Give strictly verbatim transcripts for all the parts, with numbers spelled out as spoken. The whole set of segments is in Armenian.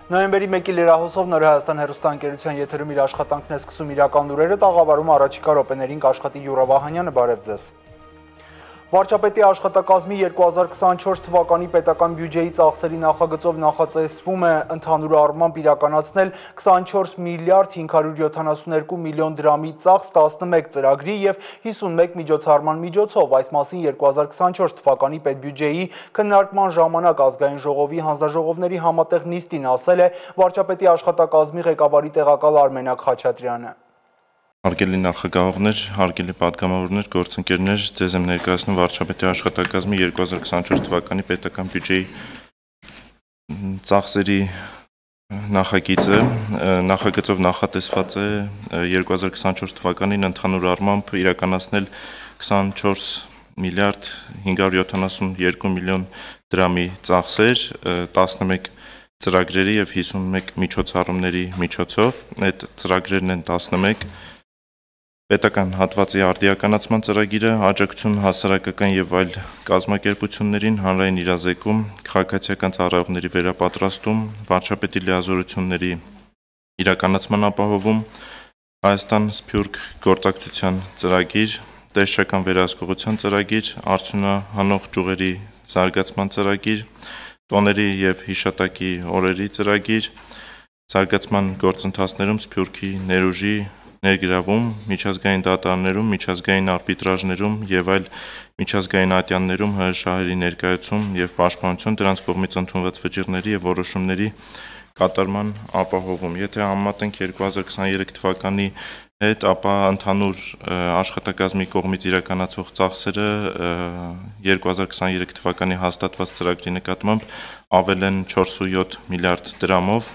Նոյեմբերի մեկի լրահոսով Նոր Հայաստան հեռուստաընկերության եթերում իր աշխատանքն է սկսում իրական լուրերը, տաղավարում առաջիկա րոպեներին կաշխատի Յուրա Վահանյանը, բարև ձեզ։ Վարչապետի աշխատակազմի երկու հազար քսանչորս թվականի պետական բյուջեի ծախսերի նախագծով նախատեսվում է ընդհանուր առմամբ իրականացնել քսանչորս միլիարդ հինգ հարյուր յոթանասունյոթ միլիոն դրամի ծախս տասնմեկ ծրագրի եւ հիսունմեկ միջոցառման միջոցով, այս մասին երկու հազար քսանչորս թվականի պետբյուջեի քննարկման ժամանակ ազգային ժողովի հանձնաժողովների համատեղ նիստին ասել է վարչապետի աշխատակազմի ղեկավարի տեղակալ Արմենակ Խաչատրյանը։ Հարգելի նախագահողներ, հարգելի պատգամավորներ, գործընկերներ, ձեզ եմ ներկայացնում վարչապետի աշխատակազմի երկու հազար քսանչորս թվականի պետական բյուջեի ծախսերի նախագիծը, նախագծով նախատեսված է երկու հազար քսանչորս թվականին ընդհանուր առմամբ իրականացնել քսանչորս միլիարդ հինգ հարյուր յոթանասունյոթ միլիոն դրամի ծախսեր, տասնմեկ ծրագրերի եւ հիսունմեկ միջոցառումների միջոցով, այդ ծրագրերն են տասնմեկ պետական հատվածի արդիականացման ծրագիրը, աջակցություն հասարակական եւ այլ կազմակերպություններին, հանրային իրազեկում, քաղաքացիական ծառայողների վերապատրաստում, վարչապետի լիազորությունների իրականացման ապահովում, Հայաստան Սփյուռք գործակցության ծրագիր, տեսչական վերահսկողության ծրագիր, արդյունահանող ճյուղերի զարգացման ծրագիր, տոների եւ հիշատակի օրերի ծրագիր, զարգացման գործընթացներում Սփյուռքի ներուժի ներգրավում, միջազգային դատարաններում, միջազգային արբիտրաժներում եւ այլ միջազգային ատյաններում ՀՀ շահերի ներկայացում եւ պաշտպանություն դրանց կողմից ընդունված վճիռների եւ որոշումների կատարման ապահովում։ Եթե համեմատենք երկու հազար քսաներեք թվականի հետ, ապա ընդհանուր աշխատակազմի կողմից իրականացվող ծախսերը երկու հազար քսաներեք թվականի հաստատված ծրագրի նկատմամբ ավել են չորսունյոթ միլիարդ դրամով։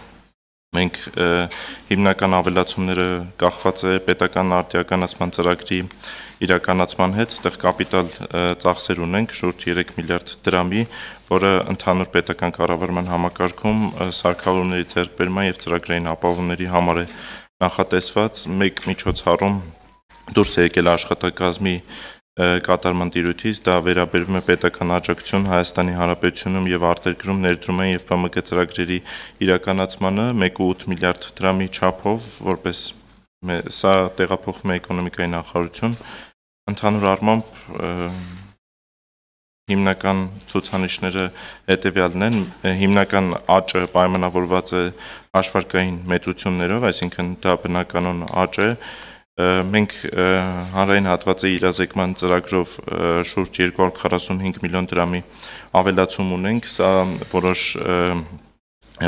Մենք հիմնական ավելացումները կախված է պետական արդիականացման ծրագրի իրականացման հետ, ստեղ կապիտալ ծախսեր ունենք շուրջ երեք միլիարդ դրամի, որը ընդհանուր պետական կառավարման համակարգում սարքավորումների ձեռքբերման եւ ծրագրային ապահովումների համար է նախատեսված, մեկ միջոցառում դուրս է եկել աշխատակազմի կատարման տիրույթից, դա վերաբերվում է պետական աջակցություն Հայաստանի Հանրապետությունում եւ արտերկրում ներդրումային եւ Բ M G ծրագրերի իրականացմանը մեկ կoma ութ միլիարդ դրամի չափով, որպես սա տեղափոխվում է էկոնոմիկայի նախարարություն, ընդհանուր առմամբ հիմնական ցուցանիշները հետեւյալն են, հիմնական աճը պայմանավորված է հաշվարկային մեծություններով, այսինքն դա բնականon աճ է։ Մենք հանրային հատվածի իրազեկման ծրագրով շուրջ երկու հարյուր քառասունհինգ միլիոն դրամի ավելացում ունենք, սա որոշ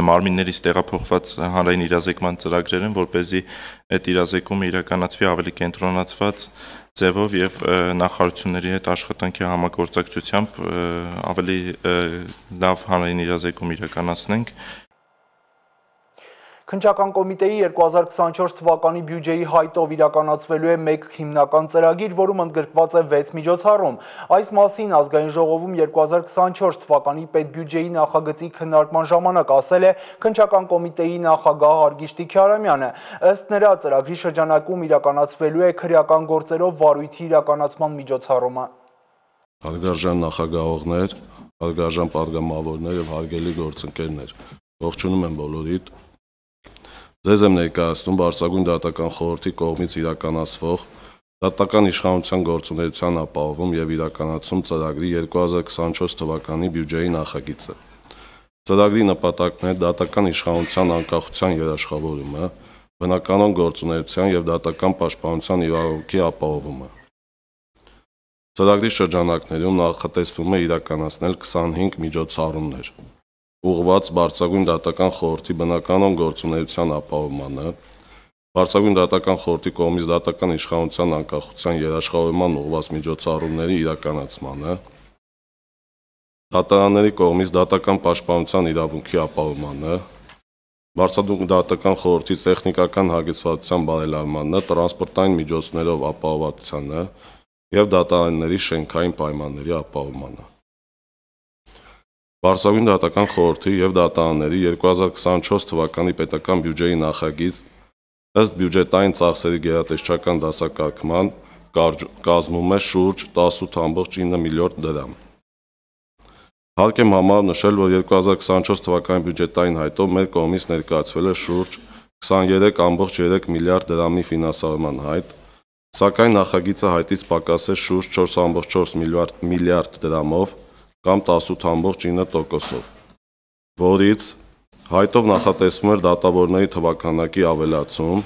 մարմիններից տեղափոխված հանրային իրազեկման ծրագրեր են, որպեսզի այդ իրազեկումը իրականացվի ավելի կենտրոնացված ձևով եւ նախարարությունների հետ աշխատանքի համագործակցությամբ ավելի լավ հանրային իրազեկում իրականացնենք։ Քննչական կոմիտեի երկու հազար քսանչորս թվականի բյուջեի հայտով իրականացվելու է մեկ հիմնական ծրագիր, որում ընդգրկված է վեց միջոցառում։ Այս մասին ազգային ժողովում երկու հազար քսանչորս թվականի պետբյուջեի նախագծի քննարկման ժամանակ ասել է քննչական կոմիտեի նախագահ Արգիշտի Քյարամյանը։ Ըստ նրա, ծրագրի շրջանակում իրականացվելու է քրեական գործերով վարույթի իրականացման միջոցառումը։ Հարգարժան նախագահողներ, հարգարժան պատգամավորներ եւ հարգելի գործընկերներ, ողջունում եմ բոլորիդ։ Ձեզ եմ ներկայացնում Բարձրագույն դատական խորհրդի կողմից իրականացվող դատական իշխանության գործունեության ապահովում եւ իրականացում ծրագրի երկու հազար քսանչորս թվականի բյուջեի նախագիծը։ Ծրագրի նպատակն է դատական իշխանության անկախության երաշխավորումը, բնականon գործունեության եւ դատական պաշտպանության իրավունքի ապահովումը։ Ծրագրի շրջանակներում նախատեսվում է իրականացնել քսանհինգ միջոցառումներ, ուղղված Բարձրագույն դատական խորհրդի բնականon գործունեության ապահովմանը, Բարձրագույն դատական խորհրդի կողմից դատական իշխանության անկախության երաշխավորման ուղղված միջոցառումների իրականացմանը, դատարանների կողմից դատական պաշտպանության իրավունքի ապահովմանը, Բարձրագույն դատական խորհրդի տեխնիկական հագեցվածության բարելավմանը, տրանսպորտային միջոցներով ապահովվածությանը եւ դատարանների շենքային պայմանների ապահովմանը։ Բարձրագույն դատական խորհրդի եւ դատարանների երկու հազար քսանչորս թվականի պետական բյուջեի նախագիծ ըստ բյուջետային ծախսերի գերատեսչական դասակարգման կազմում է շուրջ տասնութ կoma ինը միլիարդ դրամ։ Հարկ եմ համար նշել, որ երկու հազար քսանչորս թվականի բյուջետային հայտով մեր կողմից ներկայացվել է շուրջ քսաներեք կόμք երեք միլիարդ դրամի ֆինանսավորման հայտ, սակայն նախագիծը հայտից պակաս է շուրջ չորս կόμք չորս միլիարդ դրամով կամ տասնութ կόμք ինը տոկոսով, որից հայտով նախատեսվում էր դատավորների թվականակի ավելացում,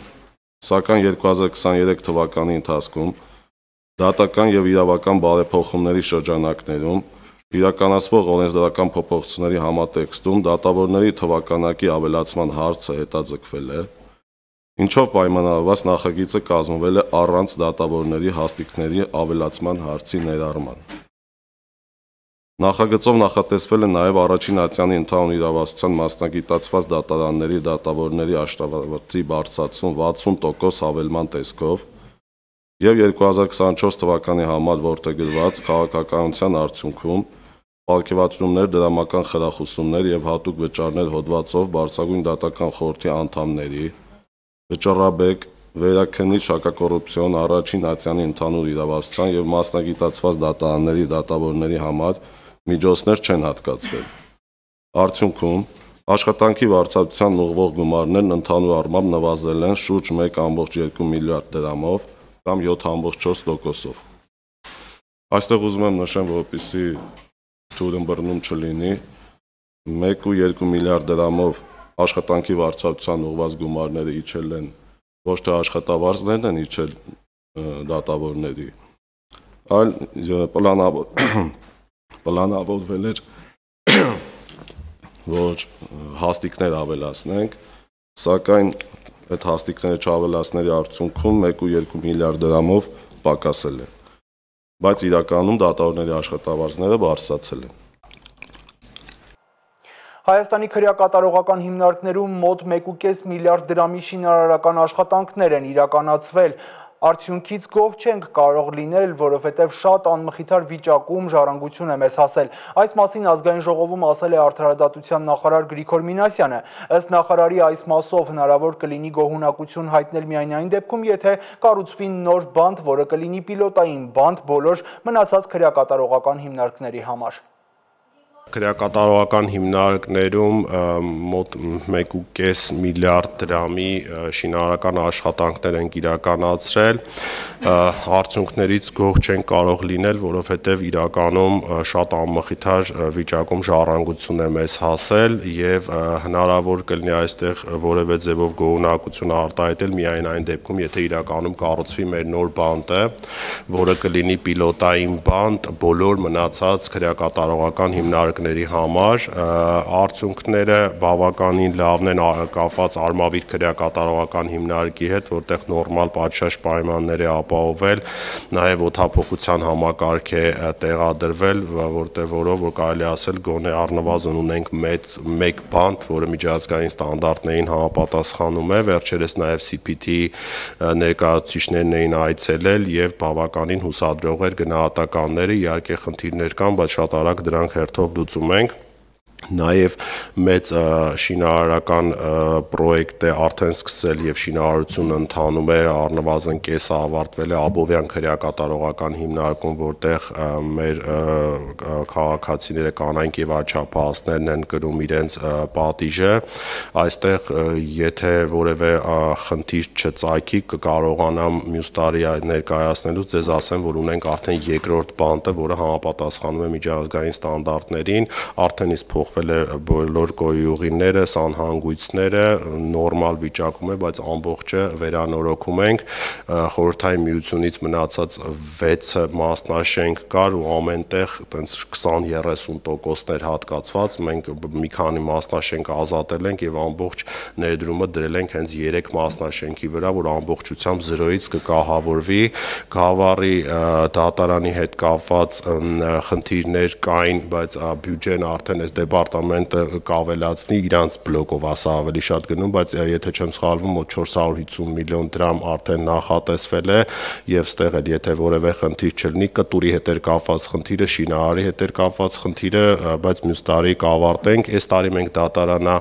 սակայն երկու հազար քսաներեք թվականի ընթացքում դատական եւ իրավական բարեփոխումների շրջանակներում իրականացվող օրենսդրական փոփոխությունների համատեքստում դատավորների թվականակի ավելացման հարցը հետաձգվել է, ինչով պայմանավորված նախագիծը կազմվել է առանց դատավորների հաստիքների ավելացման հարցի ներառման։ Նախագծով նախատեսվել է նաև առաջին ատյանի ընդհանուր իրավասության մասնագիտացված դատարանների դատավորների աշխատավարձի բարձրացում վաթսուն տոկոս հավելման տեսքով եւ երկու հազար քսանչորս թվականի համար որդեգրված քաղաքականության արդյունքում պարգևատրումներ, դրամական խրախուսումներ եւ հատուկ վճարներ հոդվածով բարձրագույն դատական խորհրդի անդամների, վճռաբեկ, վերաքննիչ հակակոռուպցիոն առաջին ատյանի ընդհանուր իրավասության եւ մասնագիտացված դատարանների դատավորների համար միջոցներ չեն հատկացվել։ Արդյունքում աշխատանքի վարձատրության ուղղվող գումարներն ընդհանուր առմամբ նվազել են շուրջ մեկ կόμք երկու միլիարդ դրամով կամ յոթ կόμք չորս տոկոսով։ Այստեղ ուզում եմ նշեմ, որպեսզի թուրըմբռնում չլինի, մեկ կόμք երկու միլիարդ դրամով աշխատանքի վարձատրության ուղղված գումարները իջել են ոչ թե աշխատավարձներն են իջել դատավորների, այլ պլանավորվել էր, որ հաստիկներ ավելացնենք, սակայն այդ հաստիկները չավելացների արդյունքում մեկ կόμք երկու միլիարդ դրամով պակասել է, բայց իրականում դատավորների աշխատավարձները բարձրացել են։ Հայաստանի քրեակատարողական հիմնարկներում մոտ մեկ կόμք պինգ միլիարդ դրամի շինարարական աշխատանքներ են իրականացվել։ Արդյունքից գոհ չենք կարող լինել, որովհետև շատ անմխիթար վիճակում ժառանգություն է մեզ հասել։ Այս մասին ազգային ժողովում ասել է Արդարադատության նախարար Գրիգոր Մինասյանը։ Ըստ նախարարի այս մասով հնարավոր կլինի գոհունակություն հայտնել միայն այն դեպքում, եթե կառուցվի նոր բանտ, որը կլինի պիլոտային բանտ բոլոր մնացած քրեակատարողական հիմնարկների համար։ Քրեակատարողական հիմնարկներում մոտ մեկ կόμք պինգ միլիարդ դրամի շինարարական աշխատանքներ են իրականացրել, արդյունքներից գոհ չեն կարող լինել, որովհետև իրականում շատ անմխիթար վիճակում ժառանգություն է մեզ հասել եւ հնարավոր կլինի այստեղ որևէ ձևով գոհունակություն արտահայտել միայն այն դեպքում, եթե իրականում կառուցվի մեր նոր բանտը, որը կլինի պիլոտային բանտ բոլոր մնացած քրեակատարողական հիմնարկների համար, արդյունքները բավականին լավն են կապված Արմավիր քրեակատարողական հիմնարկի հետ, որտեղ նորմալ պատշաճ պայմաններ է ապահովել, նաև օդափոխության համակարգ է տեղադրվել, որտեղ որով որ կարելի ասել գոնե առնվազն ունենք մեծ մեկ բանտ, որը միջազգային ստանդարտներին համապատասխանում է, վերջերս նաև C P T ներկայացուցիչներն էին այցելել եւ բավականին հուսադրող էր գնահատականները, իհարկե խնդիրներ կան, բայց շատ արագ դրանք հերթով լուծում ենք։ Նաև մեծ շինարարական պրոյեկտ է արդեն սկսել եւ շինարարությունը ընթանում է, առնվազն կեսը ավարտվել է Աբովյան քրեակատարողական հիմնարկում, որտեղ մեր քաղաքացիները կանայք եւ աչափահասներն են կրում իրենց պատիժը։ Այստեղ եթե որևէ խնդիր չծագի, կկարողանամ մյուս տարի ներկայացնելու ձեզ ասեմ, որ ունենք արդեն երկրորդ բանտը, որը համապատասխանում է միջազգային ստանդարտներին, արդեն իսկ փոխվել է բոլոր գոյուղիները, սանհանգույցները, նորմալ վիճակում է, բայց ամբողջը վերանորոգում ենք, խորհրդային միությունից մնացած վեցը մասնաշենք կար ու ամենտեղ տենց քսան երեսուն տոկոսներ հատկացված, մենք մի քանի մասնաշենք ազատել ենք եւ ամբողջ ներդրումը դրել ենք հենց երեք մասնաշենքի վրա, որ ամբողջությամբ զրոյից կկահավորվի, գավառի դատարանի հետ կապված խնդիրներ կային, բայց բյուջեն արդեն այս դեպարտամենտը կավելացնի իրանց բլոկով, ասա ավելի շատ գնում, բայց եթե չեմ սխալվում, մոտ չորս հարյուր հիսուն միլիոն դրամ արդեն նախատեսվել է եւ ստեղ էլ եթե որևէ խնդիր չլինի, կտուրի հետ էր կապված խնդիրը, շինարարի հետ էր կապված խնդիրը, բայց մյուս տարի կավարտենք։ Այս տարի մենք դատարանա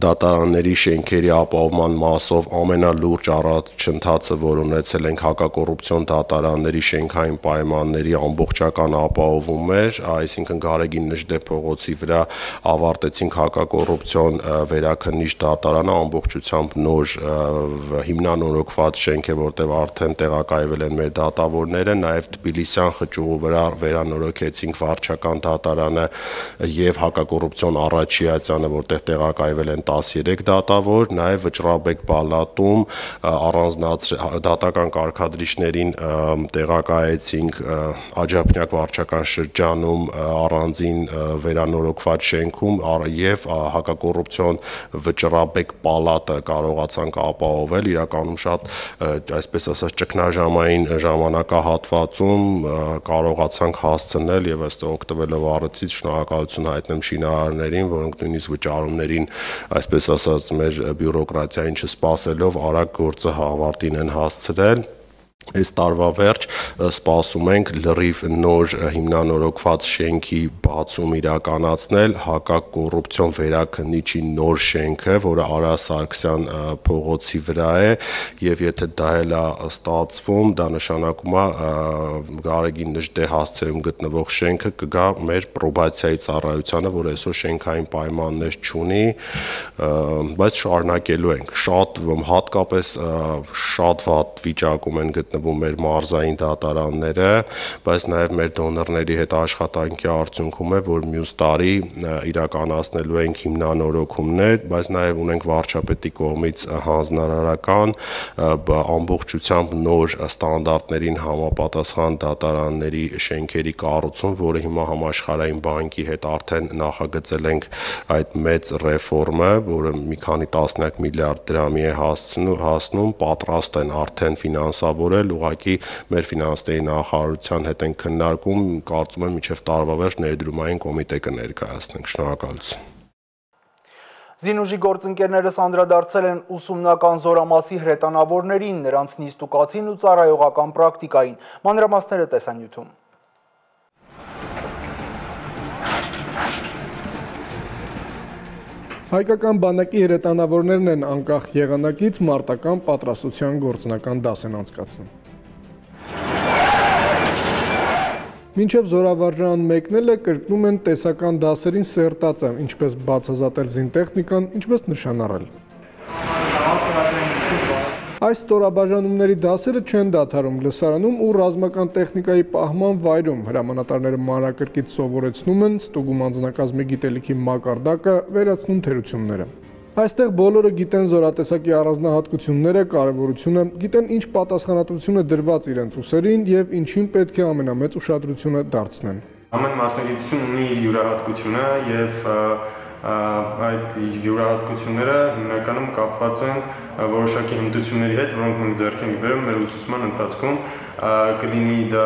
դատարանների շենքերի ապահովման մասով ամենալուրջ առաջընթացը, որ ունեցել ենք հակակոռուպցիոն դատարանների շենքային պայմանների ամբողջական ապահովում էր, այսինքն Գարեգին Նժդե փողոցի վրա ավարտեցինք հակակոռուպցիոն վերաքննիչ դատարանը, ամբողջությամբ նոր հիմնանորոգված շենք է, որտեղ արդեն տեղակայվել են մեր դատավորները, նաև Թբիլիսյան խճուղու վրա վերանորոգեցինք վարչական դատարանը եւ հակակոռուպցիոն Արաչիացյանը, որտեղ տեղակայվել են տասներեք դատավոր, նաև Վճռաբեկ պալատում առանձնացրել դատական կարգադրիչներին տեղակայեցինք Աջափնյակ վարչական շրջանում առանձին վերանորոգված շենքում եւ հակակոռուպցիոն Վճռաբեկ պալատը կարողացանք ապահովել, իրականում շատ այսպես ասած ճգնաժամային ժամանակահատվածում կարողացանք հասցնել եւ ըստ օգտվելով առիթից շնորհակալություն հայտնեմ շինարարներին, որոնք նույնիսկ վճարումներին, այսպես ասած, մեր բյուրոկրատիային չսպասելով արագ գործը ավարտին են հասցրել։ Այս տարվա վերջ սպասում ենք լրիվ նոր հիմնանորոգված շենքի բացում իրականացնել, հակակոռուպցիոն վերաքննիչի նոր շենքը, որը Արա Սարգսյան փողոցի վրա է, եւ եթե դա էլ է ստացվում, դա նշանակում է Գարեգին Նժդե հասցեում գտնվող շենքը կգա մեր պրոբացիայի ծառայությանը, որ այսօր շենքային պայմաններ չունի, բայց շարունակելու ենք։ Շատ հատկապես շատ վատ վիճակում են գտնվում մեր մարզային դատարանները, բայց նաև մեր դոնորների հետ աշխատանքի արդյունքում է, որ մյուս տարի իրականացնելու ենք հիմնանորոգումներ, բայց նաև ունենք վարչապետի կողմից հանձնարարական ամբողջությամբ նոր ստանդարտներին համապատասխան դատարանների շենքերի կառուցում, որը հիմա համաշխարհային բանկի հետ արդեն նախագծել ենք այդ մեծ ռեֆորմը, որը մի քանի տասնյակ միլիարդ դրամի է հասնում, պատրաստ են արդեն ֆինանսավորել, ուղղակի մեր ֆինանսների նախարարության հետ են քննարկում, կարծում եմ մինչև տարվա վերջ ներդրումային կոմիտե կներկայացնենք։ Շնորհակալություն։ Զինուժի գործընկերներս անդրադարձել են ուսումնական զորամասի հրետանավորներին, նրանց նիստուկացին ու ծառայողական պրակտիկային։ Մանրամասները տեսանյութում։ Հայկական բանակի հրետանավորներն են անկախ եղանակից մարտական պատրաստության գործնական դաս են անցկացնում։ Մինչև զորավարժան մեկնելը կրկնում են տեսական դասերին սերտածը, ինչպես բացազատել զինտեխնիկան, ինչպես նշանառել։ Այս ստորաբաժանումների դասերը չեն դադարում լսարանում ու ռազմական տեխնիկայի պահման վայրում, հրամանատարները մանրակրկիտ սովորեցնում են, ստուգում անձնակազմի գիտելիքի մակարդակը, վերացնում թերությունները։ Այստեղ բոլորը գիտեն զորատեսակի առանձնահատկությունները, կարևորությունը, գիտեն ինչ պատասխանատվություն է դրված իրենց ուսերին եւ ինչին պետք է ամենամեծ ուշադրությունը դարձնեն։ Ամեն մասնագիտություն ունի իր յուրահատկությունը եւ այդ յուրահատկությունները հիմնականում կապված են որոշակի հմտությունների հետ, որոնք մենք ձեռք ենք բերում մեր ուսուցման ընթացքում, կլինի դա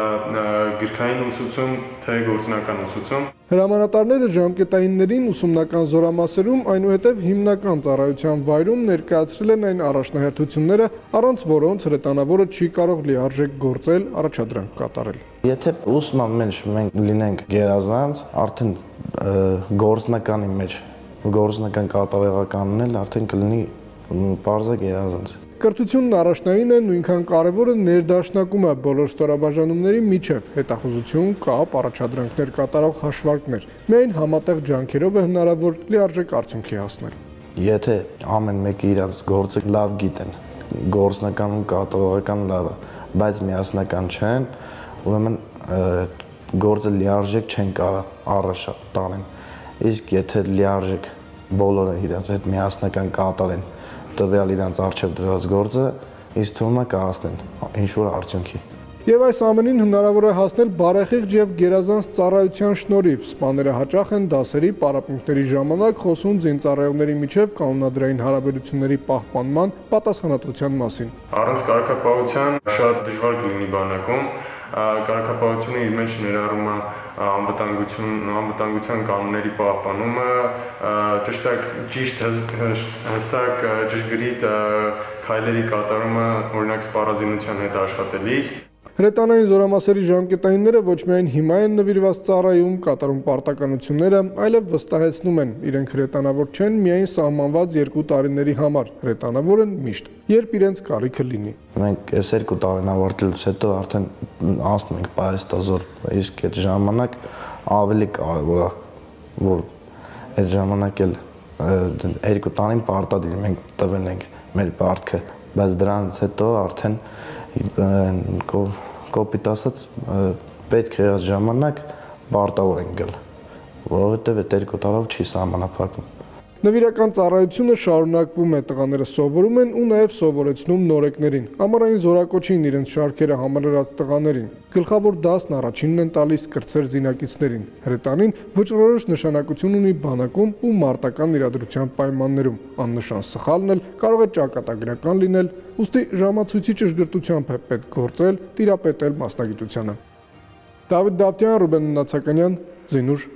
գրքային ուսուցում, թե գործնական ուսուցում։ Հրամանատարները ժամկետայիններին ուսումնական զորամասերում, այնուհետև հիմնական ծառայության վայրում ներկայացրել են այն առաջնահերթությունները, առանց որոնց հրետանավորը չի կարող լիարժեք գործել, առաջադրանք կատարել։ Եթե ուսման մեջ մենք լինենք գերազանց, արդեն գործնականի մեջ, գործնական կատարողականն էլ արդեն կլինի պարզը գերազանց։ Կրթությունն առաջնային է, նույնքան կարևորը ներդաշնակումը բոլոր ստորաբաժանումների միջև, հետախուզություն, կապ, առաջադրանքներ կատարող հաշվարկներ։ Միայն համատեղ ջանքերով է հնարավոր լիարժեք արդյունքի հասնել։ Եթե ամեն մեկը իրաց գործը լավ գիտեն, գործնական ու կատարողական լավ է, բայց միասնական չեն, ուրեմն գործը լիարժեք չեն կարող առաջ տանեն։ Իսկ եթե լիարժեք բոլորը իրաց հետ միասնական կատարեն տվյալ իրանց արժև դրած գործը, ինձ թվում է կհասնեն ինչ-որ արդյունքի։ Եվ այս ամենին հնարավոր է հասնել բարեխիղճ եւ գերազանց ծառայության շնորհիվ։ Սպաները հաճախ են դասերի պարապմունքների ժամանակ խոսում զինծառայողների միջև կանոնադրային հարաբերությունների պահպանման պատասխանատվության մասին։ Առանց կարգապահության շատ դժվար կլինի բանակում։ Կարգապահությունը իր մեջ ներառում է անվտանգություն, անվտանգության կանոնների պահպանումը, ճշտակ ճիշտ հստակ ճշգրիտ քայլերի կատարումը, օրինակ սպառազինության հետ աշխատելիս։ Հրետանային զորամասերի ժամկետայինները ոչ միայն հիմա են նվիրված ծառայում, կատարում պարտականությունները, այլև վստահեցնում են, իրենք հրետանավոր չեն միայն սահմանված երկու տարիների համար, հրետանավոր են միշտ, երբ իրենց կարիքը լինի։ Մենք այս երկու տարին ավարտելուց հետո արդեն անցնում ենք պայեստազոր, իսկ այդ ժամանակ ավելի կարևոր է, որ այդ ժամանակ էլ երկու տարին պարտադիր մենք տվել ենք մեր պարտքը, բայց դրանից հետո արդեն կոպիտ ասած պետք է այդ ժամանակ պարտավոր ենք գալ, որովհետև այդ երկու տարով չի սահմանափակվում։ Նվիրական ծառայությունը շարունակվում է, տղաները սովորում են ու նաև սովորեցնում նորեկներին, ամառային զորակոչին իրենց շարքերը համալրած տղաներին։ Գլխավոր դասն առաջինն են տալիս կրտսեր զինակիցներին։ Հրետանին վճռորոշ նշանակություն ունի բանակում ու մարտական իրադրության պայմաններում։ Աննշան սխալն էլ կարող է ճակատագրական լինել, ուստի ժամացույցի ճշգրտությամբ է պետք գործել, տիրապետել մասնագիտությանը։ Դավիթ Դավթյան, Ռուբեն Նացականյան, Զինուշ։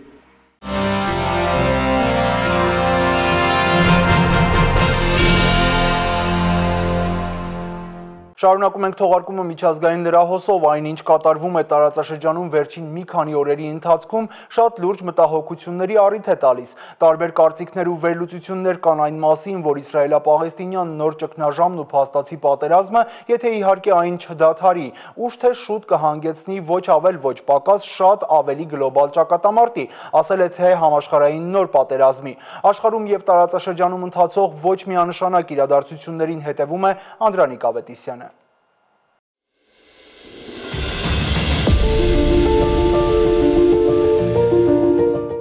Շարունակում ենք թողարկումը միջազգային լրահոսով, այնինչ կատարվում է տարածաշրջանում վերջին մի քանի օրերի ընթացքում շատ լուրջ մտահոգությունների առիթ է տալիս։ Տարբեր կարծիքներ ու վերլուծություններ կան այն մասին, որ իսրայելա-պաղեստինյան նոր ճգնաժամն ու փաստացի պատերազմը, եթե իհարկե այն չդադարի, ուշ թե շուտ կհանգեցնի ոչ ավել ոչ պակաս շատ ավելի գլոբալ ճակատամարտի, ասել է թե համաշխարհային նոր պատերազմի։ Աշխարհում եւ տարածաշրջանում ընթացող ոչ միանշանակ իրադարձություններին հետևում է Անդրանիկ Ավետիսյանը։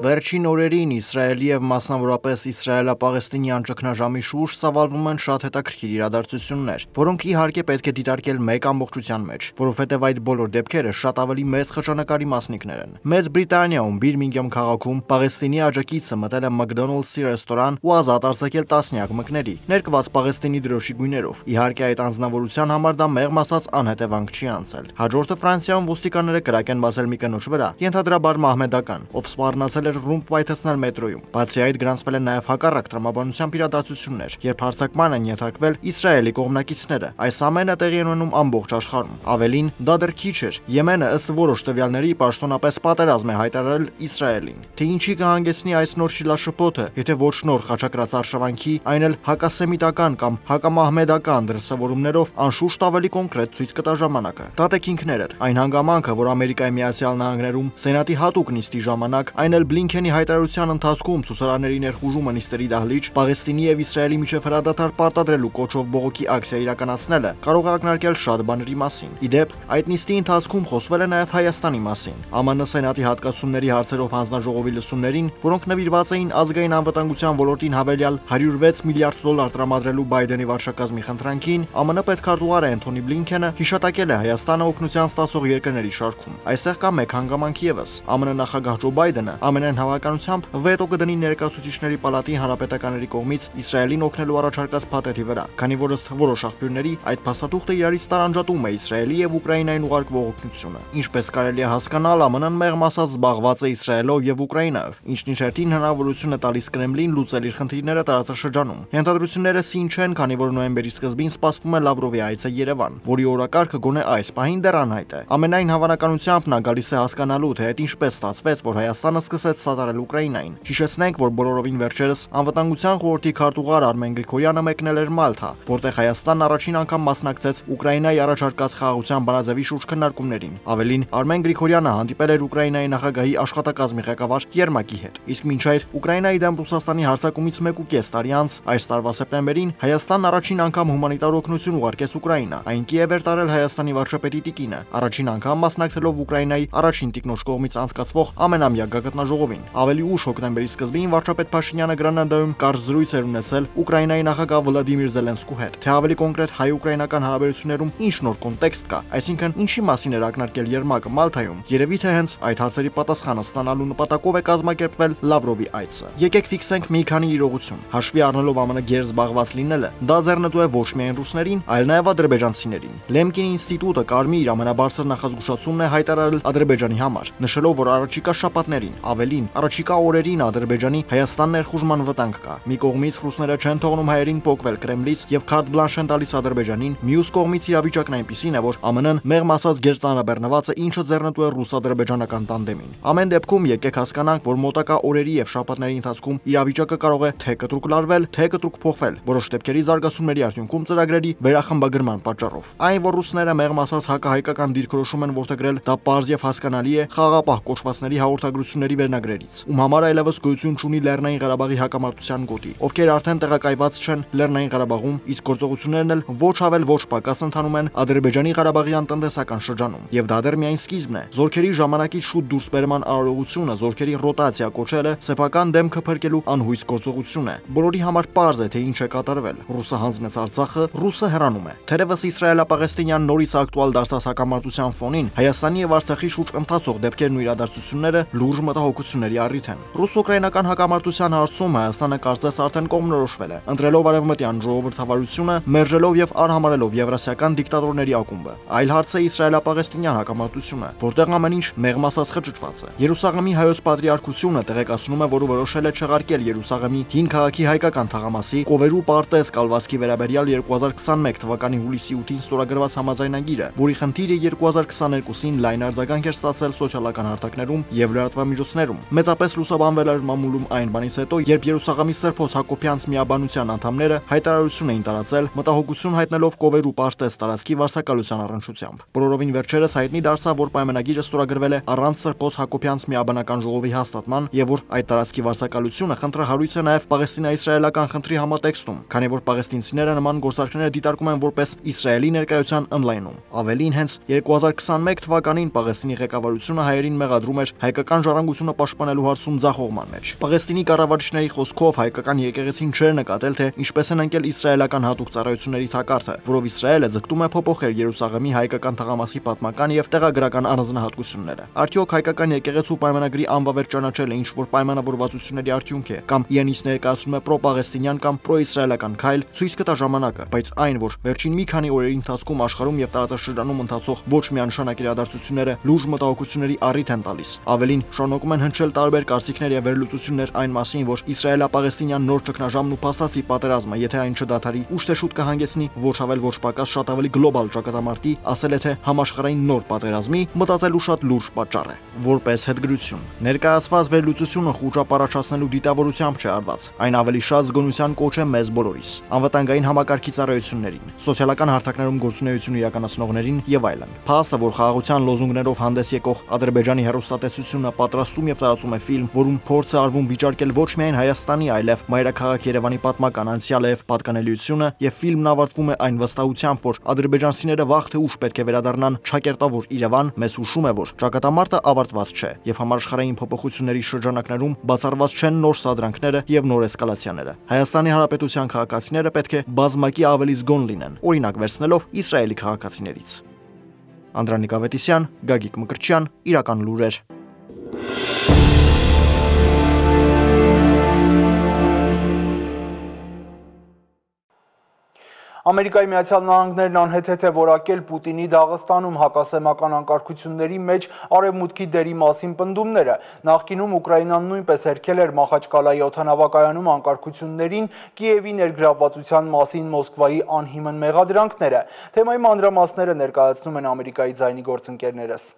Վերջին օրերին Իսրայելի եւ մասնավորապես իսրայելա-պաղեստինյան ճգնաժամի շուրջ ծավալվում են շատ հետաքրքիր իրադարձություններ, որոնք իհարկե պետք է դիտարկել մեկ ամբողջության մեջ, որովհետեւ այդ բոլոր դեպքերը շատ ավելի մեծ խճանկարի մասնիկներ են։ Մեծ Բրիտանիայում Բիրմինգհամ քաղաքում Պաղեստինի աջակիցը մտել է McDonald's-ի ռեստորան ու ազատ արձակել տասնյակ մկների, ներկված Պաղեստինի դրոշի գույներով։ Իհարկե այդ անձնավորության համար դա մեղմ ասած անհետևանք չի անցել։ Հաջորդը Ֆրանսիայում ոստիկանները կրակ են բացել մի կնոջ վրա, ենթադրաբար մահմեդական, ով սպառնացել էր ռումբ պայթեցնել մետրոյում։ Բացի այդ գրանցվել են նաև հակառակ տրամաբանությամբ իրադարձություններ, երբ հարձակման են ենթարկվել Իսրայելի կողմնակիցները։ Այս ամենը տեղի է ունենում ամբողջ աշխարհում։ Ավելին, դա դեռ քիչ էր։ Եմենը ըստ որոշ տվյալների պաշտոնապես պատերազմ է հայտարարել Իսրայելին։ Թե ինչի կհանգեցնի այս նոր շիլաշփոթը, եթե ոչ նոր խաչակրած արշավանքի, այն էլ հակասեմիտական կամ հակամահմեդական դրսևորումներով անշուշտ ավելի կոնկրետ ցույց կտա ժամանակը։ Տատեք ինքներդ, այն հանգամանքը, որ Ամերիկայի Միացյալ Նահանգներում Սենատի հատուկ նիստի ժամանակ, այն էլ Բլինքենի հայտարարության ընթացքում ցուսարարների ներխուժումը նիստերի դահլիճ, Պաղեստինի եւ Իսրայելի միջև հրադադար պարտադրելու կոչով բողոքի ակցիա իրականացնելը կարող է ակնարկել շատ բաների մասին։ Իդեպ, այդ նիստի ընթացքում խոսվել է նաեւ Հայաստանի մասին։ ԱՄՆ Սենատի հատկացումների հարցերով հանձնաժողովի լսումներին, որոնք նվիրված էին ազգային անվտանգության ոլորտին հավելյալ հարյուր վեց միլիարդ դոլար տրամադրելու Բայդենի վարչակազմի խնդրանքին, ԱՄՆ պետքարտուղար Անթոնի Բլինքենը հիշատակել է Հայաստանը օգնության ստացող երկրների շարքում։ Այստեղ կա մեկ հանգամանք եւս։ ԱՄՆ նախագահ Ջո Բայդենը ամենայն հավանականությամբ վետո կդնի ներկայացուցիչների պալատի հանրապետականների կողմից Իսրայելին օգնելու առաջարկած փաթեթի վրա, քանի որ ըստ որոշ աղբյուրների այդ փաստաթուղթը իրարից տարանջատում է Իսրայելի եւ Ուկրաինային ուղարկվող օգնությունը։ Ինչպես կարելի է հասկանալ, ԱՄՆ-ն մեղմ ասած զբաղված է Իսրայելով եւ Ուկրաինայով, ինչն իր հերթին հնարավորություն է տալիս Կրեմլին լուծել իր խնդիրները տարածաշրջանում։ Ենթադրությունները սին չեն, քանի որ նոյեմբերի սկզբին սպասվում է Լավրովի այցը Երևան, որի օրակարգը գոնե այս պահին դեռ անհայտ է։ Ամենայն հավանականությամբ նա գալիս է հասկանալու, թե այդ ինչպես ստացվեց, որ Հայաստանը սկսեց սատարել Ուկրաինային։ Հիշեցնենք, որ բոլորովին վերջերս անվտանգության խորհրդի քարտուղար Արմեն Գրիգորյանը մեկնել էր Մալթա, որտեղ Հայաստանն առաջին անգամ մասնակցեց Ուկրաինայի առաջարկած խաղաղության բանաձևի շուրջ քննարկումներին։ Ավելին, Արմեն Գրիգորյանը հանդիպել էր Ուկրաինայի նախագահի աշխատակազմի ղեկավար Երմակի հետ։ Իսկ մինչ այդ Ուկրաինայի դեմ Ռուսաստանի հարձակումից մեկ ու կես տարի անց, այս տարվա սեպտեմբերին Հայաստանն առաջին անգամ հումանիտար օգնություն ուղարկեց Ուկրաինա։ Այն Կիև էր տարել Հայաստանի վարչապետի տիկինը, առաջին անգամ մասնակցելով Ուկրաինայի առաջին տիկնոջ կողմից անցկացվող ամենամյա գագաթնաժողովին։ Ավելի ուշ հոկտեմբերի սկզբին վարչապետ Փաշինյանը Գրանադայում կարճ զրույց էր ունեցել Ուկրաինայի նախագահ Վլադիմիր Զելենսկու հետ։ Թե ավելի կոնկրետ հայ-ուկրաինական հարաբերություններում ինչ նոր կոնտեքստ կա, այսինքն ինչի մասին էր ակնարկել Երմակը Մալթայում, երևի թե հենց այդ հարցերի պատասխանը ստանալու նպատակով է կազմակերպվել Լավրովի այցը։ Եկեք ֆիքսենք մի քանի իրողություն։ Հաշվի առնելով ԱՄՆ գեր զբաղված լինելը, դա ձեռնտու է ոչ միայն ռուսներին, այլ նաև ադրբեջանցիներին։ Լեմկին ինստիտուտը կարմիր ամենաբարձր նախազգուշացումն է հայտարարել Ադրբեջանի համար, նշելով, որ առաջիկա շաբաթներին ավելին Ավելին, առաջիկա օրերին Ադրբեջանի Հայաստան ներխուժման վտանգ կա։ Մի կողմից ռուսները չեն թողնում հայերին փոկվել Կրեմլից եւ քարտ բլանշ են տալիս Ադրբեջանին, մյուս կողմից իրավիճակն այնպիսին է, որ ԱՄՆ-ն մեղմ ասած գերծանրաբեռնված է, ինչը ձեռնտու է ռուս-ադրբեջանական տանդեմին։ Ամեն դեպքում եկեք հասկանանք, որ մոտակա օրերի եւ շաբաթների ընթացքում իրավիճակը կարող է թե կտրուկ լարվել, թե կտրուկ փոխվել, որոշ դեպքերի զարգացումների արդյունքում ծրագրերի վերախմբագրման պատճառով։ Այն, որ ռուսները մեղմ ասած հակահայկական դիրքորոշում են որդեգրել, դա պարզ եւ հասկանալի է խաղաղապահ կոչվածների հաղորդագրությունների վերնագրերից, ում համար այլևս գոյություն չունի Լեռնային Ղարաբաղի հակամարտության գոտի, ովքեր արդեն տեղակայված չեն Լեռնային Ղարաբաղում, իսկ գործողություններն էլ ոչ ավել ոչ պակաս ընթանում են Ադրբեջանի Ղարաբաղյան տնտեսական շրջանում։ Եվ դա դեռ միայն սկիզբն է։ Զորքերի ժամանակից շուտ դուրսբերման արարողությունը, զորքերի ռոտացիա կոչելը սեփական դեմքը փրկելու անհույս գործողություն է։ Բոլորի համար պարզ է, թե ինչ է կատարվել։ Ռուսը հանձնեց Արցախը, ռուսը հեռանում է։ Թերևս իսրայելա-պաղեստինյան նորից ակտուալ դարձած հակամարտության ֆոնին Հայաստանի եւ Արցախի շուրջ ընթացող դեպքերն ու իրադարձությունները լուրջ մտահոգությունների առիթ են։ Ռուս-ուկրաինական հակամարտության հարցում Հայաստանը կարծես արդեն կողմնորոշվել է, ընտրելով արևմտյան ժողովրդավարությունը, մերժելով եւ արհամարելով եվրասիական դիկտատորների ակումբը։ Այլ հարց է իսրայելա-պաղեստինյան հակամարտությունը, որտեղ ամեն ինչ մեղմ ասած խճճված է։ Երուսաղեմի հայոց պատրիարքությունը տեղեկացնում է, որ որոշել է չեղարկել Երուսաղեմի հին քաղաքի հայկական թաղամասի Կովերու պարտեզ կալվածքի վերաբերյալ երկու հազար քսաներկու թվականի հուլիսի ութին ստորագրված համաձայնագիրը, որի խնդիրը երկու հազար քսաներկուին լայն արձագանք էր ստացել սոցիալական հարթակներում եւ լրատվամիջոցներում։ Մեծապես լուսաբանվել էր մամուլում այն բանից հետո, երբ Երուսաղեմի Սրբոց Հակոբյանց միաբանության անդամները հայտարարություն էին տարածել, մտահոգություն հայտնելով Կովերու պարտեզ տարածքի վարձակալության առնչությամբ։ Բոլորովին վերջերս հայտնի դարձավ, որ պայմանագիրը ստորագրվել է առանց Սրբոց Հակոբյանց միաբանական ժողովի հաստատման եւ որ այդ տարածքի վարձակալությունը խնդրահարույց է նաեւ պաղեստինա-իսրայելական խնդրի համատեքստում, քանի որ պաղեստինցիները նման գործարքները դիտարկում են որպես Իսրայելի ներկայության ընդլայնում։ Ավելին, հենց երկու հազար քսաներկու թվականին Պաղեստինի ղեկավարությունը հայերին մեղադրում էր հայկական ժառանգությունը պաշտպանելու հարցում ձախողման մեջ։ Պաղեստինի կառավարիչների խոսքով հայկական եկեղեցին չէր նկատել, թե ինչպես են ընկել իսրայելական հատուկ ծառայությունների թակարդը, որով Իսրայելը ձգտում է փոփոխել Երուսաղեմի հայկական թաղամասի պատմական եւ տեղագրական առանձնահատկությունները։ Արդյոք հայկական եկեղեցու պայմանագրի անվավեր ճանաչելը ինչ որ պայմանավորվածությունների արդյունք է, կամ իրանից ներկայացնում է պրոպաղեստինյան կամ պրոիսրայելական քայլ, ցույց կտա ժամանակը, բայց այն, որ վերջին մի քանի օրերի ընթացքում աշխարհում եւ տարածաշրջանում ընթացող ոչ միանշանակ իրադարձությունները լուրջ մտահոգությունների առիթ են տալիս։ Ավելին, շարունակում են հնչել տարբեր կարծիքներ եւ վերլուծություններ այն մասին, որ իսրայելա-պաղեստինյան նոր ճգնաժամն ու փաստացի պատերազմը, եթե այն չդադարի, ուշ թե շուտ կհանգեցնի ոչ ավել ոչ պակաս շատ ավելի գլոբալ ճակատամարտի, ասել է թե համաշխարհային նոր պատերազմի, մտածելու շատ լուրջ պատճառ է։ Որպես հետգրություն, ներկայացված վերլուծությունը խուճապ առաջացնելու դիտավորությամբ չէ արված։ Այն ավելի շատ զգոնության կոչ է մեզ բոլորիս, անվտանգային համակարգի ծառայություններին, սոցիալական հարթակներում գործունեություն իրականացնողներին եւ այլն։ Փաստը, որ խաղաղության լոզունգներով հանդես եկող Ադրբեջանի հեռուստատեսությունը պատրաստում եւ տարածում է ֆիլմ, որում փորձ է արվում վիճարկել ոչ միայն Հայաստանի, այլև մայրաքաղաք Երևանի պատմական անցյալը եւ պատկանելիությունը, եւ ֆիլմն ավարտվում է այն վստահությամբ, որ ադրբեջանցիները վաղ թե ուշ պետք է վերադառնան ճակերտավոր Երևան, մեզ հուշում է, որ ճակատամարտը ավարտված չէ եւ համաշխարհային փոփոխությունների շրջանակներում բացառված չեն նոր սադրանքները եւ նոր էսկալացիաները։ Հայաստանի Հանրապետության քաղաքացիները պետք է բազմակի ավելի զգոն լինեն, օրինակ վերցնելով Իսրայելի քաղաքացիներից։ Անդրանիկ Ավետիսյան, Գագիկ Մկրտչյան, Իրական լուրեր։ Ամերիկայի Միացյալ Նահանգներն անհեթեթ է որակել Պուտինի Դաղստանում հակասեմական անկարգությունների մեջ արևմուտքի դերի մասին պնդումները։ Նախկինում Ուկրաինան նույնպես հերքել էր Մախաչկալայի օդանավակայանում անկարգություններին Կիևի ներգրավվածության մասին Մոսկվայի անհիմն մեղադրանքները։ Թեմայի մանրամասները ներկայացնում են Ամերիկայի ձայնի գործընկերներս։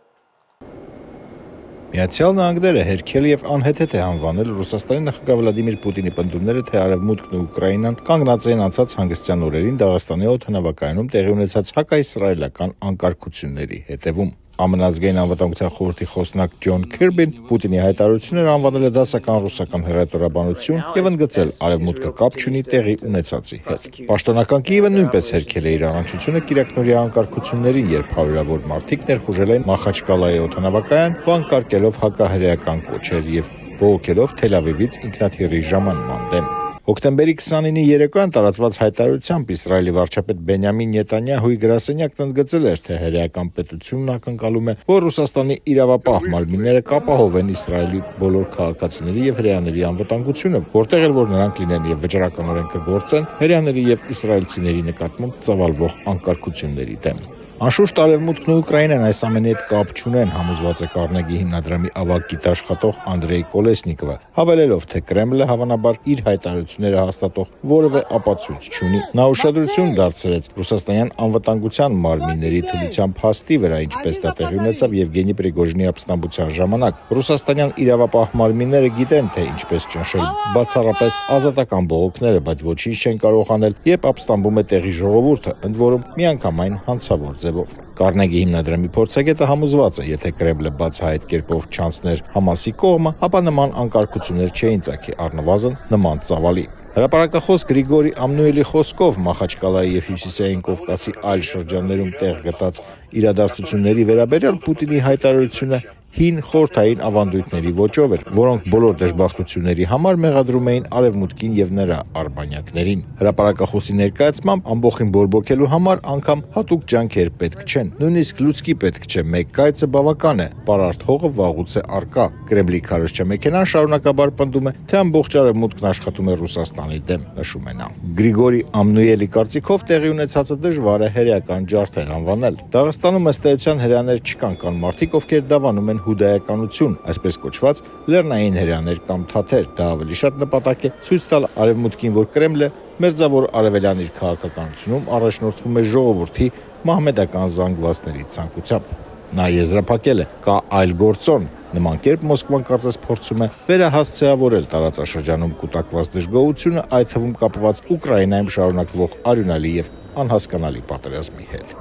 Միացյալ Նահանգները հերքել եւ անհեթեթ է անվանել Ռուսաստանի նախագահ Վլադիմիր Պուտինի պնդումները, թե Արևմուտքն ու Ուկրաինան կանգնած են անցած հանգստյան օրերին Դաղստանի օդանավակայանում տեղի ունեցած հակաիսրայելական անկարգությունների հետևում։ Ամենազգային անվտանգության խորհրդի խոսնակ Ջոն Քիրբին Պուտինի հայտարարությունները անվանել է դասական ռուսական հեռուստաաբանություն եւ ընդգծել արևմուտքը կապ չունի տեղի ունեցածի հետ։ Պաշտոնական Կիևը նույնպես հերքել է իր առնչությունը կիրակնորյա անկարգություններին, երբ հարյուրավոր մարդիկ ներխուժել են Մախաչկալայի օդանավակայան, վանկարկելով հակահրեական կոչեր եւ բողոքելով Թել Ավիվից ինքնաթիռի ժամանման դեմ։ Հոկտեմբերի քսանինի երեկոյան տարածված հայտարարությամբ Իսրայելի վարչապետ Բենյամին Նետանյահուի գրասենյակն ընդգծել էր, թե հրեական պետությունն ակնկալում է, որ Ռուսաստանի իրավապահ մարմինները կապահովեն Իսրայելի բոլոր քաղաքացիների եւ հրեաների անվտանգությունը, որտեղ էլ որ նրանք լինեն եւ վճռականորեն կգործեն հրեաների եւ իսրայելցիների նկատմամբ ծավալվող անկարգությունների դեմ։ Անշուշտ Արևմուտքն ու Ուկրաինան այս ամենի հետ կապ չունեն, համոզված է Կարնեգի հիմնադրամի ավագ գիտաշխատող Անդրեյ Կոլեսնիկովը, հավելելով, թե Կրեմլը հավանաբար իր հայտարարությունները հաստատող որևէ ապացույց չունի։ Նա ուշադրություն դարձրեց ռուսաստանյան անվտանգության մարմինների թուլության փաստի վրա, ինչպես դա տեղի ունեցավ Եվգենի Պրիգոժինի ապստամբության ժամանակ։ Ռուսաստանյան իրավապահ մարմինները գիտեն, թե ինչպես ճնշել բացառապես ազատական բողոքները, բայց ոչինչ չեն կարող անել, երբ ապստամբում է տեղի ժողովուրդը, ընդ որում միանգամայն հանցավոր ձևով։ Կարնեգի հիմնադրամի փորձագետը համոզված է, եթե Կրեմլը բացահայտ կերպով չանցներ Համասի կողմը, ապա նման անկարգություններ չէին ծագի, առնվազն նման ծավալի։ Հրապարակախոս Գրիգորի Ամնուելի խոսքով Մախաչկալայի եւ Հյուսիսային Կովկասի այլ շրջաններում տեղ գտած իրադարձությունների վերաբերյալ Պուտինի հայտարարությունը հին խորհրդային ավանդույթների ոճով էր, որոնք բոլոր դժբախտությունների համար մեղադրում էին Արևմուտքին եւ նրա արբանյակներին։ Հրապարակախոսի ներկայացմամբ ամբողջին բորբոքելու համար անգամ հատուկ ջանքեր պետք չեն, նույնիսկ լուցկի պետք չէ, մեկ կայծը բավական է, պարարտ հողը վաղուց է արկա։ Կրեմլի քարոզչա մեքենան շարունակաբար պնդում է, թե ամբողջ Արևմուտքն աշխատում է Ռուսաստանի դեմ, նշում է նա։ Գրիգորի Ամնուելի կարծիքով տեղի ունեցածը դժվար է հերեական ջարդեր անվանել։ Դաղստանում ըստ էության հրեաներ չկան, կան մարդիկ, ովքեր դավանում են հուդայականություն, այսպես կոչված լեռնային հրեաներ կամ թաթեր, դա ավելի շատ նպատակ է ցույց տալ Արևմուտքին, որ Կրեմլը մերձավոր արևելյան իր քաղաքականությունում առաջնորդվում է ժողովրդի մահմեդական զանգվածների ցանկությամբ։ Նա եզրափակել է, կա այլ գործոն, նման կերպ Մոսկվան կարծես փորձում է վերահասցեավորել տարածաշրջանում կուտակված դժգոհությունը, այդ թվում կապված Ուկրաինայում շարունակվող արյունալի եւ անհասկանալի պատերազմի հետ։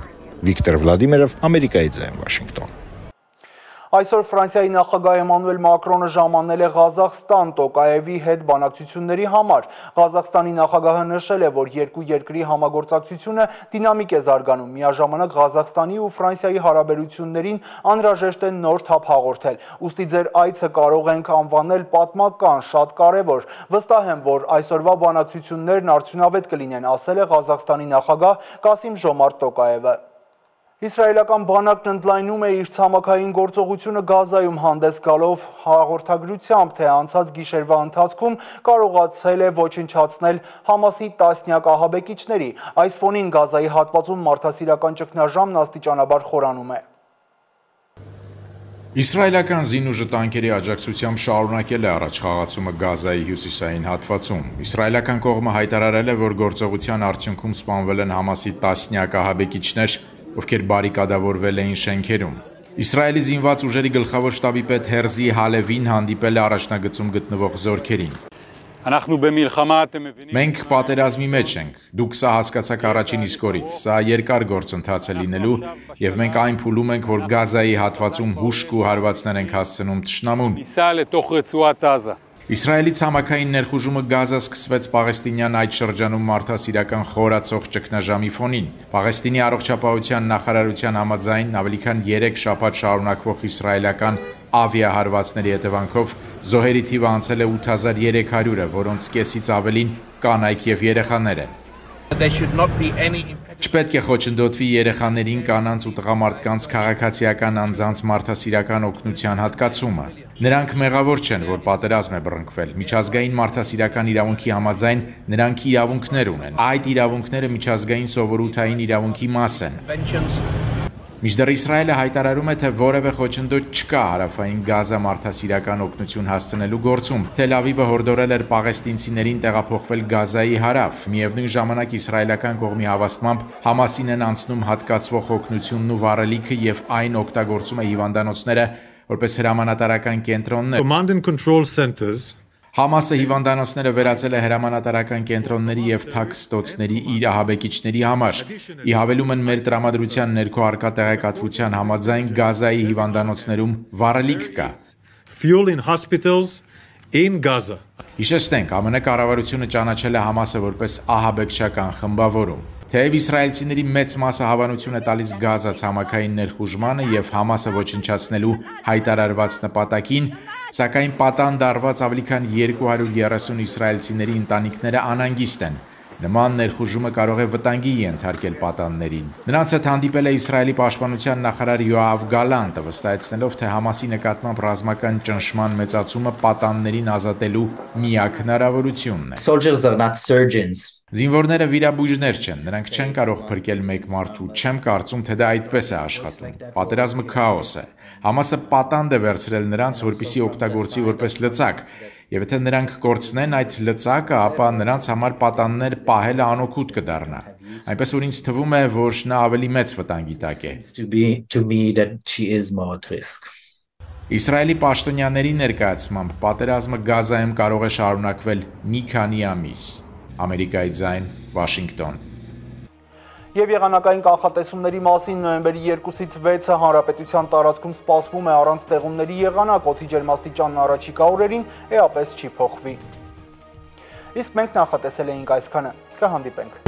Վիկտոր Վլադիմիրով, Ամերիկայի ձայն, Վաշինգտոն։ Այսօր Ֆրանսիայի նախագահ Էմանուել Մակրոնը ժամանել է Ղազախստան Տոկաևի հետ բանակցությունների համար։ Ղազախստանի նախագահը նշել է, որ երկու երկրի համագործակցությունը դինամիկ է զարգանում, միաժամանակ Ղազախստանի ու Ֆրանսիայի հարաբերություններին անհրաժեշտ է նոր թափ հաղորդել։ Ուստի ձեր այցը կարող ենք անվանել պատմական, շատ կարևոր։ Վստահ եմ, որ այսօրվա բանակցություններն արդյունավետ կլինեն, ասել է Ղազախստանի նախագահ Կասիմ Ժոմարտ Տոկաևը։ Իսրայելական բանակն ընդլայնում է իր ցամաքային գործողությունը Գազայում, հանդես գալով հաղորդագրությամբ, թե անցած գիշերվա ընթացքում կարողացել է ոչնչացնել Համասի տասնյակ ահաբեկիչների։ Այս ֆոնին Գազայի հատվածում մարդասիրական ճգնաժամն աստիճանաբար խորանում է։ Իսրայելական զինուժը տանկերի աջակցությամբ շարունակել է առաջխաղացումը Գազայի հյուսիսային հատվածում։ Իսրայելական կողմը հայտարարել է, որ գործողության արդյունքում սպանվել են Համասի տասնյակ ահաբեկիչներ, ովքեր բարիկադավորվել էին շենքերում։ Իսրայելի զինված ուժերի գլխավոր շտաբի պետ Հերզի Հալևին հանդիպել է առաջնագծում գտնվող զորքերին։ Մենք պատերազմի մեջ ենք, դուք սա հասկացաք առաջին իսկ օրից, սա երկար գործընթաց է լինելու եւ մենք այն փուլում ենք, որ Գազայի հատվածում հուշք ու հարվածներ ենք հասցնում թշնամուն։ Իսրայելի ցամաքային ներխուժումը Գազա սկսվեց Պաղեստինյան այդ շրջանում մարդասիրական խորացող ճգնաժամի ֆոնին։ Պաղեստինի առողջապահության նախարարության համաձայն ավելի քան երեք շաբաթ շարունակվող իսրայելական ավիահարվածների հետևանքով զոհերի թիվը անցել է ութ հազար երեք հարյուրը, որոնց կեսից ավելին կանայք եւ երեխաներ են։ Չպետք է խոչընդոտվի երեխաներին, կանանց ու տղամարդկանց քաղաքացիական անձանց մարդասիրական օգնության հատկացումը։ Նրանք մեղավոր չեն, որ պատերազմ է բռնկվել։ Միջազգային մարդասիրական իրավունքի համաձայն նրանք իրավունքներ ունեն։ Այդ իրավունքները միջազգային սովորութային իրավունքի մաս են։ Մինչդեռ Իսրայելը հայտարարում է, թե որևէ խոչընդոտ չկա հարավային Գազա մարդասիրական օգնություն հասցնելու գործում։ Թել Ավիվը հորդորել էր պաղեստինցիներին տեղափոխվել Գազայի հարավ։ Միևնույն ժամանակ իսրայելական կողմի հավաստմամբ Համասին են անցնում հատկացվող օգնությունն ու վառելիքը եւ այն օգտագործում է հիվանդանոցները որպես հրամանատարական կենտրոններ։ Command and control centers Համասը հիվանդանոցները վերածել է հրամանատարական կենտրոնների եւ թաքստոցների իր ահաբեկիչների համար։ Ի հավելում են մեր տրամադրության ներքո արկա տեղեկատվության համաձայն Գազայի հիվանդանոցներում վառելիք կա։ Fuel in hospitals in Gaza. Հիշեցնենք, ԱՄՆ կառավարությունը ճանաչել է Համասը որպես ահաբեկչական խմբավորում։ Թեև իսրայելցիների մեծ մասը հավանություն է տալիս Գազա ցամաքային ներխուժմանը եւ Համասը ոչնչացնելու հայտարարված նպատակին, սակայն պատանդ արված ավելի քան երկու հարյուր երեսուն իսրայելցիների ընտանիքները անհանգիստ են։ Նման ներխուժումը կարող է վտանգի ենթարկել պատաններին։ Նրանց հետ հանդիպել է Իսրայելի պաշտպանության նախարար Յոավ Գալանտը, վստահեցնելով, թե Համասի նկատմամբ ռազմական ճնշման մեծացումը պատաններին ազատելու միակ հնարավորությունն է։ Soldiers are not surgeons. Զինվորները վիրաբույժներ չեն, նրանք չեն կարող փրկել մեկ մարդու, չեմ կարծում, թե դա այդպես է աշխատում։ Պատերազմը քաոս է։ Համասը պատանդ է վերցրել նրանց, որպեսզի օգտագործի որպես լծակ, եւ եթե նրանք կորցնեն այդ լծակը, ապա նրանց համար պատաններ պահելը անօգուտ կդառնա։ Այնպես որ ինձ թվում է, որ նա ավելի մեծ վտանգի տակ է։ Իսրայելի պաշտոնյաների ներկայացմամբ պատերազմը Գազայում կարող է շարունակվել մի քանի ամիս։ Ամերիկայի ձայն, Վաշինգտոն։ Եվ եղանակային կանխատեսումների մասին նոյեմբերի երկուսից վեցը հանրապետության տարածքում սպասվում է առանց տեղումների եղանակ, օդի ջերմաստիճանն առաջիկա օրերին էապես չի փոխվի։ Իսկ մենք նախատեսել էինք այսքանը, կհանդիպենք։